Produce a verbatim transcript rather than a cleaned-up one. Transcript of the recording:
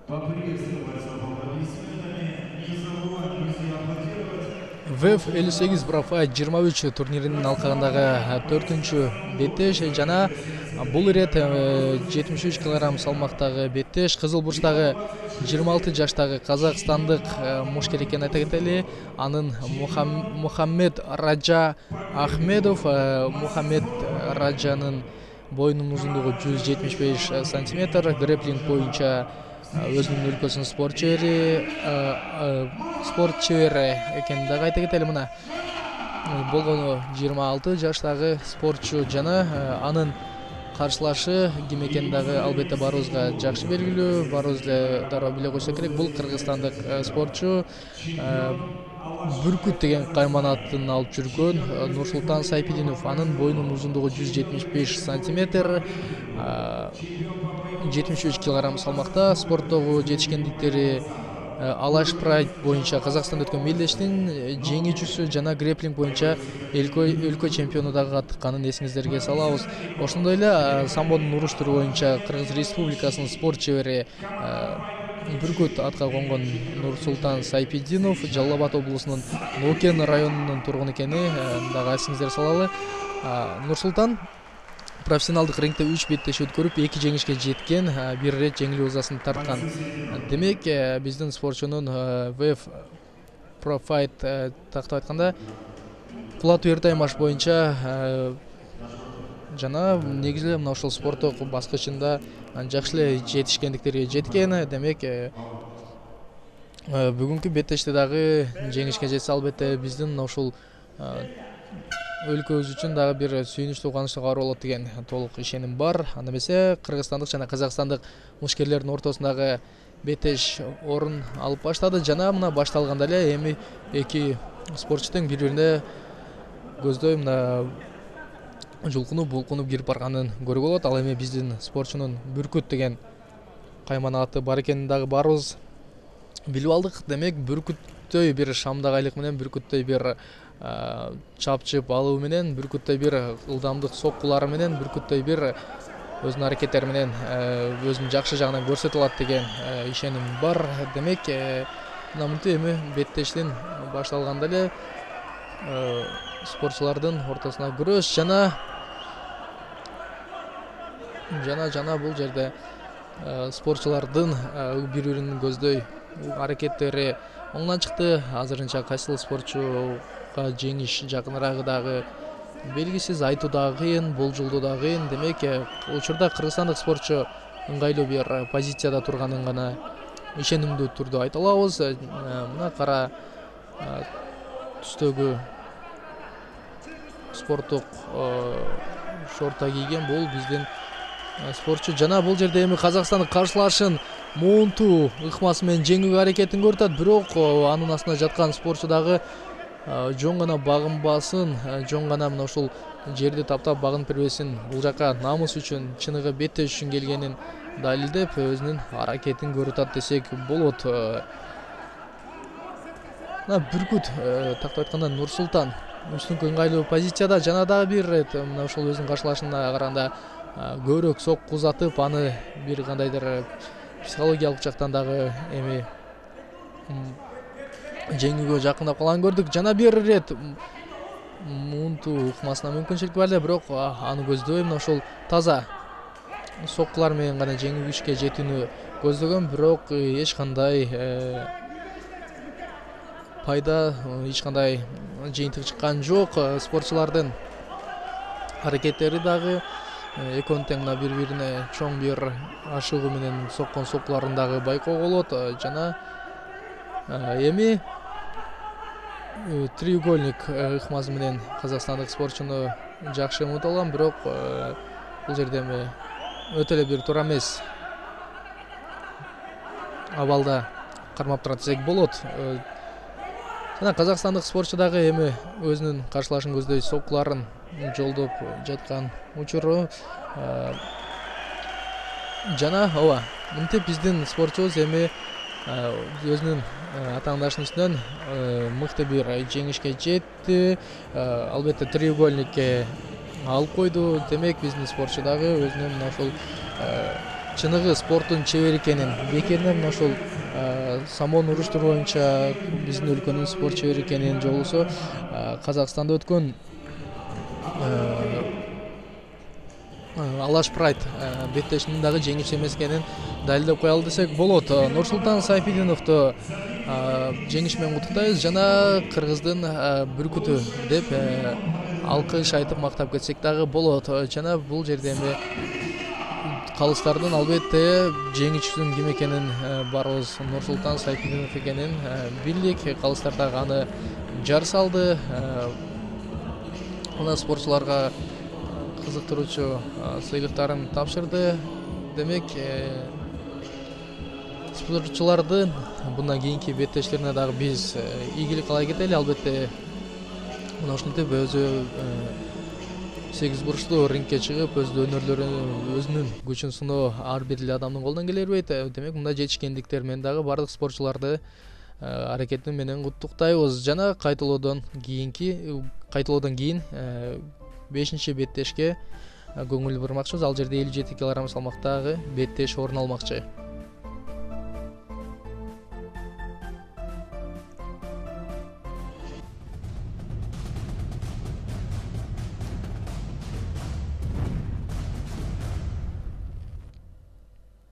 ВЭФ элүү сегиз Профайт жыйырма үч турниринин алкагындагы төртүнчү беттеш жана бул ирет жетимиш үч килограмм салмактагы беттеш кызыл бурчтагы жыйырма алты жаштагы казакстандык мушкер экенин айта кетели. Анын Мухаммед Раджа Ахмедов. Мухаммед Раджанын боюнун узундугу жүз жетимиш беш сантиметр. Грэплинг боюнча өзүнүн өлкөсүнүн спорт чебери спорт чебери экенин дагы айта кетели. Мына болгону жыйырма алты жаштагы спортчу жана анын каршылашы ким экени дагы албетте баарыбызга жакшы белгилүү. Баарыбыз эле дароо биле койсок керек. Бул кыргызстандык спортчу Бүркүт деген кайманатын алып жүргөн Нурсултан Сайпидинов. Анын боюнун узундугу жүз жетимиш беш сантиметр, жетимиш үч килограмм салмакта. Спорттогу жетишкендиктери Алаш Прайд боюнча Казакстанда өткөн мелдештин жеңүүчүсү жана грэплинг боюнча өлкө чемпиону дагы каттыкканын эсиңиздерге салабыз. Ошондой эле самбонун уруштуруу боюнча Кыргыз Республикасынын спорт чебери Бүркүт атка конгон Нурсултан Сайпидинов Жалал Абад облусунун Нукен районунун тургуну экени дагы эсиңиздерге салалы. Нурсултан профессионалдык рингде үч беттеш өткөрүп эки жеңишке жеткен, бир ирет жеңилүү ызасын тарткан. Демек биздин спортчунун ВЭФ Профайт тактап айтканда кулатуу эртаймаш боюнча жана негизи эле мына ушул спорттук баскычында жакшы эле жетишкендиктерге жеткен. Демек бүгүнкү беттеште дагы жеңишке жетсе албетте биздин мына ушул өлкөбүз үчүн дагы бир сүйүнүчтүү кубанычтуу кабар болот деген толук ишеним бар. Анда эмесе кыргызстандык жана казакстандык мушкерлердин ортосундагы беттеш орун алып баштады жана мына башталганда эле эми эки спортчу тең бири бирине көздөй мына жулкунуп булкунуп кирип барганын көрүүгө болот. Ал эми биздин спортчунун Бүркүт деген каймана аты бар экенин дагы баарыбыз билип алдык. Демек Бүркүттөй бир шамдагайлык менен, Бүркүттөй бир чапчып алуу менен, Бүркүттөй бир ылдамдык соккулары менен, Бүркүттөй бир өзүнүн аракеттери менен өзүнүн жакшы жагынан көрсөтө алат деген ишеним бар. Демек мына мынтип эми беттештин башталганда эле спортчулардын ортосуна күрөш жана жана жана бул жерде спортчулардын бири бирин көздөй аракеттери оңдон чыкты. Азырынча кайсыл спортчуга жеңиш жакыныраагы дагы белгисиз, айтуу дагы кыйын, болжолдоо дагы кыйын. Демек учурда кыргызстандык спортчу ыңгайлуу бир позицияда турганын гана ишенимдүү түрдө айта алабыз. Мына кара түстөгү спорттук шорта кийген бул биздин спортчу жана бул жерде эми Казакстандын каршылашын муунтуу ыкмасы менен жеңүүгө аракетин көрүп атат. Бирок анын астында жаткан спортчу дагы жон гана багынбасын, жон гана мына ушул жерди таптап багынып бербесин. Бул жака намыс үчүн, чыныгы беттеш үчүн келгенин далилдеп өзүнүн аракетин көрүп атат десек болот. Мына Бүркүт тактап айтканда Нурсултан үстүнкү ыңгайлуу позицияда жана дагы бир ирет мына ушул өзүнүн каршылашына караганда көбүрөөк сокку узатып, аны бир кандайдыр психологиялык жактан дагы эми жеңүүгө жакындап калганын көрдүк. Жана бир ирет муунтуу ыкмасына мүмкүнчүлүк бар эле, бирок аны көздөй мына ушул таза соккулар менен гана жеңишке жетүүнү көздөгөн. Бирок эч кандай пайда, эч кандай жыйынтык чыккан жок. Спортчулардын аракеттери дагы экөөнү тең мына бири бирине чоң бир ашыгуу менен соккон соккуларын дагы байкоого болот. Жана эми треугольник ыкмасы менен казакстандык спортчуну жакшы унута алган, бирок бул жерде эми өтө эле бир туура эмес абалда кармап турат десек болот. Жана казакстандык спортчу дагы эми өзүнүн каршылашын көздөй соккуларын жолдоп жаткан учуру жана ооба мынтип биздин спортчубуз эми өзүнүн атаандашынын үстүнөн мыкты бир жеңишке жетти. Албетте треугольникке алып койду. Демек биздин спортчу дагы өзүнүн мына ушул чыныгы спорттун чебери экенин, бекеринен ошол самон уруштуруу боюнча биздин өлкөнүн спорт чебери экенин же болбосо Казакстанда өткөн Алаш Прайд беттешинин дагы жеңүүчүсү эмес экенин далилдеп кое алды десек болот. Нурсултан Сайфидиновду жеңиш менен куттуктайбыз жана кыргыздын бүркүтү деп алкыш айтып мактап кетсек дагы болот. Жана бул жерде эми калыстардын албетте жеңүүчүсүнүн ким экенин барыбыз Нурсултан Сайфидинов экенин билдик. Калыстар дагы аны жар салды. Ана спортчуларга кызыктыруучу сыйлыктарын тапшырды. Демек, спортчулардын bundan кийинки беттештерине дагы биз ийгилик каалай кетели. Албетте мына ушинтип өзү сегиз бурчтуу рингке чыгып, өз өнөрлөрүн, өзүнүн күчүн сыноо ар бир эле адамдын колунан келе бербейт. Демек, мындай жетишкендиктер менен дагы бардык спортчуларды аракети менен куттуктайбыз. Жана кайталоодон кийинки кайталоодон кийин бешинчи беттешке көңүл бурмакчыбыз. Ал жерде элүү жети килограмм салмактагы беттеш орун алмакчы.